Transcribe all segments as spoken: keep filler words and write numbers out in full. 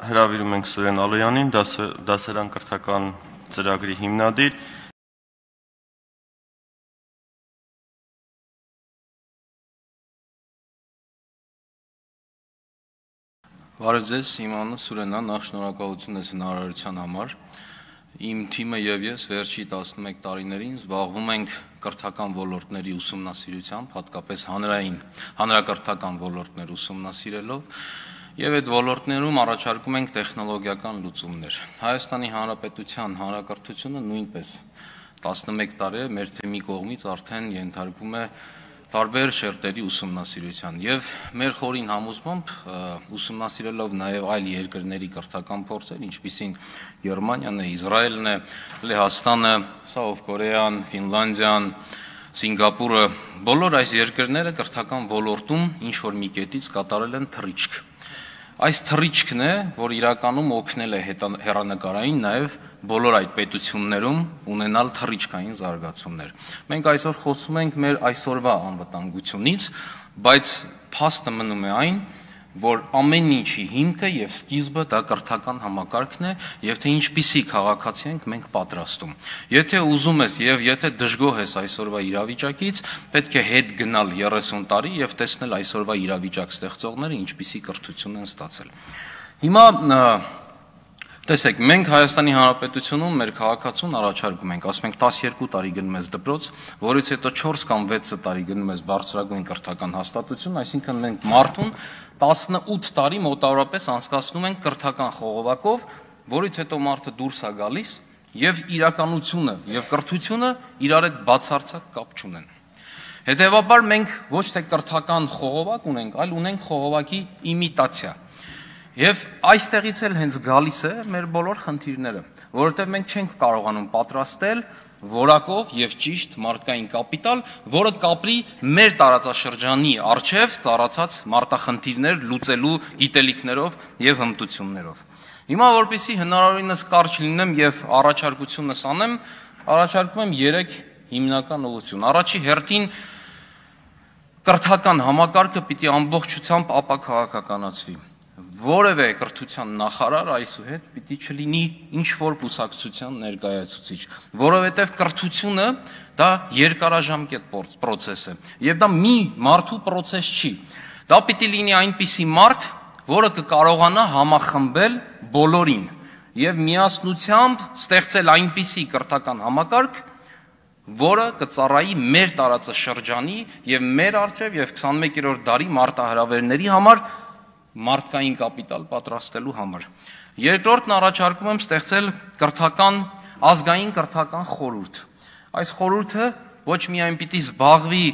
հրավիրում ենք Սուրեն Ալոյանին, դասերան կրթական ծրագրի հիմնադիր։ Բարև ձեզ, իմ անունը Սուրենն է, նախ շնորհակալություն ես հնարավորության համար։ Իմ թիմը եւ ես վերջի տասնմեկ տարիներին զբաղվում ենք կրթական ոլորտների ուսումնասիրությամբ, հատկապես հանրային, հանրակրթական ոլորտներ ուսումնասիրելով, եւ այդ ոլորտներում առաջարկում ենք տեխնոլոգիական լուծումներ։ Հայաստանի Հանրապետության հանրակրթությունը նույնպես տասնմեկ տարի է մեր թեմի կողմից արդեն ենթարկվում է տարբեր շերտերի ուսումնասիրության եւ մեր խորին համոզմամբ ուսումնասիրելով նաեւ այլ երկրների կրթական փորձեր, ինչպիսին Գերմանիան է, Իսրայելն է, Լեհաստանը, Սաութ Կորեան, Ֆինլանդիան, Սինգապուրը, բոլոր այս երկրները կրթական ոլորտում ինչ որ մի կետից կատարել են թռիչք։ Այս թռիչքն է, որ իրականում օգնել է հեռանկարային նաև բոլոր այդ պետություններում ունենալ թռիչքային զարգացումներ։ Մենք այսօր խոսում ենք մեր այսօրվա անվտանգությունից, բայց փաստը մնում է այն, որ ամեն ինչի հիմքը եւ սկիզբը դա կրթական համակարգն է եւ թե ինչպիսի քաղաքացի ենք մենք պատրաստում։ Եթե ուզում ես եւ եթե դժգոհ ես այսօրվա իրավիճակից, պետք է հետ գնալ երեսուն տարի եւ տեսնել այսօրվա իրավիճակ ստեղծողները ինչպիսի կրթություն են ստացել։ Հիմա տեսեք, մենք Հայաստանի Հանրապետությունում մեր քաղաքացուն առաջարկում ենք, ասում ենք տասներկու տարի գնում ես դպրոց, որից հետո չորս կամ վեց տարի գնում ես բարձրագույն կրթական հաստատություն, այսինքն մենք մարդուն տասնութ տարի մոտավորապես անցկացնում ենք կրթական խողովակով, որից հետո մարդը դուրս է գալիս եւ իրականությունը եւ կրթությունը իրար հետ բացարձակ կապ չունեն։ Հետևաբար մենք ոչ թե կրթական խողովակ ունենք, այլ ունենք խողովակի իմիտացիա։ Եվ այստեղից էլ հենց գալիս է մեր բոլոր խնդիրները, որովհետև մենք չենք կարողանում պատրաստել որակով եւ ճիշտ մարդկային կապիտալ, որը կապրի մեր տարածաշրջանի առջև ծառացած մարտախնդիրներ լուծելու գիտելիքներով եւ հմտություններով։ Հիմա որպեսզի հնարավորինս կարճ լինեմ եւ առաջարկությունս անեմ, առաջարկում եմ երեք հիմնական ուղղություն։ Առաջի հերթին կրթական համակարգը պիտի ամբողջությամբ ապաքաղաքականացվի։ Որևէ կրթության նախարար այսուհետ պիտի չլինի ինչ-որ կուսակցության ներկայացուցիչ, որովհետև կրթությունը դա երկարաժամկետ պրոցես է, եւ դա մի մարդու պրոցես չի։ Դա պիտի լինի այնպիսի մարդ, որը կկարողանա համախմբել բոլորին եւ միասնությամբ ստեղծել այնպիսի կրթական համակարգ, որը կծառայի մեր տարածաշրջանի եւ մեր առջև եւ քսանմեկերորդ դարի մարտահրավերների համար մարդկային կապիտալ պատրաստելու համար։ Երկրորդն առաջարկում եմ ստեղծել կրթական ազգային կրթական խորհուրդ։ Այս խորհուրդը ոչ միայն պիտի զբաղվի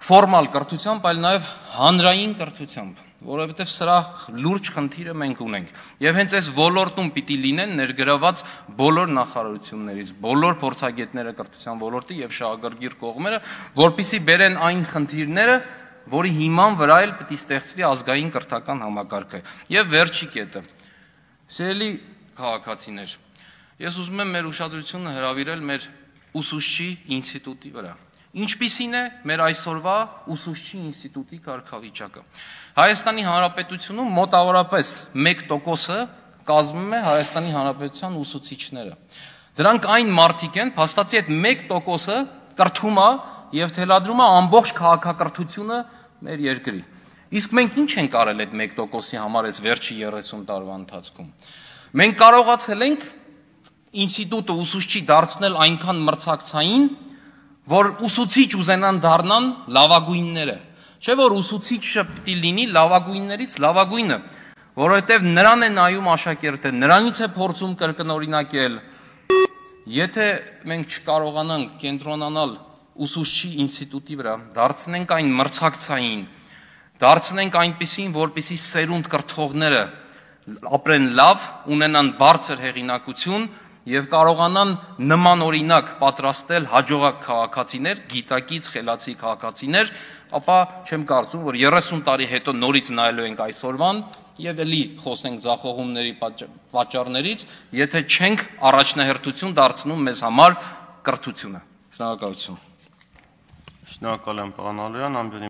ֆորմալ կրթությամբ, այլ նաև հանրային կրթությամբ, որովհետև սրա լուրջ խնդիրը մենք ունենք։ Եվ հենց այս ոլորտում պիտի լինեն ներգրաված բոլոր նախարարություններից, բոլոր փորձագետները կրթության ոլորտի եւ շահագրգիռ կողմերը, որպիսի բերեն այն խնդիրները, որի հիման վրա էլ պիտի ստեղծվի ազգային կրթական համակարգը։ Եվ վերջի կետը։ Սիրելի քաղաքացիներ, ես ուզում եմ մեր ուշադրությունը հրավիրել մեր ուսուցչի ինստիտուտի վրա։ Ինչպիսին է մեր այսօրվա ուսուցչի ինստիտուտի կարգավիճակը։ Հայաստանի Հանրապետությունում մոտավորապես մեկ տոկոսը կազմում է Հայաստանի Հանրապետության ուսուցիչները։ Դրանք այն մարդիկ են, փաստացի այդ մեկ տոկոսը կրթում է եւ թելադրում է ամբողջ քաղաքակրթությունը մեր երկրի։ Իսկ մենք ինչ ենք արել այդ մեկ տոկոսի համար այս վերջի երեսուն տարվա ընթացքում։ Մենք կարողացել ենք ինստիտուտը ուսուցչի դարձնել այնքան մրցակցային, որ ուսուցիչ ուզենան դառնան լավագույնները։ Չէ՞ որ ուսուցիչը պիտի լինի լավագույններից լավագույնը, որովհետեւ նրան է նայում աշակերտը, նրանից է փորձում կրկնօրինակել։ Եթե մենք չկարողանանք կենտրոնանալ ուսուցչի ինստիտուտի վրա, դարձնենք այն մրցակցային, դարձնենք այնպիսին, որպիսի սերունդ կրթողները ապրեն լավ, ունենան բարձր հեղինակություն եւ կարողանան նման օրինակ պատրաստել հաջողակ քաղաքացիներ, գիտակից խելացի քաղաքացիներ, ապա չեմ կարծում, որ երեսուն տարի հետո նորից նայելու ենք այսօրվան եւ էլի խոսենք ձախողումների պատճառներից, եթե չենք առաջնահերթություն դարձնում մեզ համար կրթությունը։ Շնորհակալություն։ Շնորհակալ եմ, պարոն Ալոյան, ամբողջ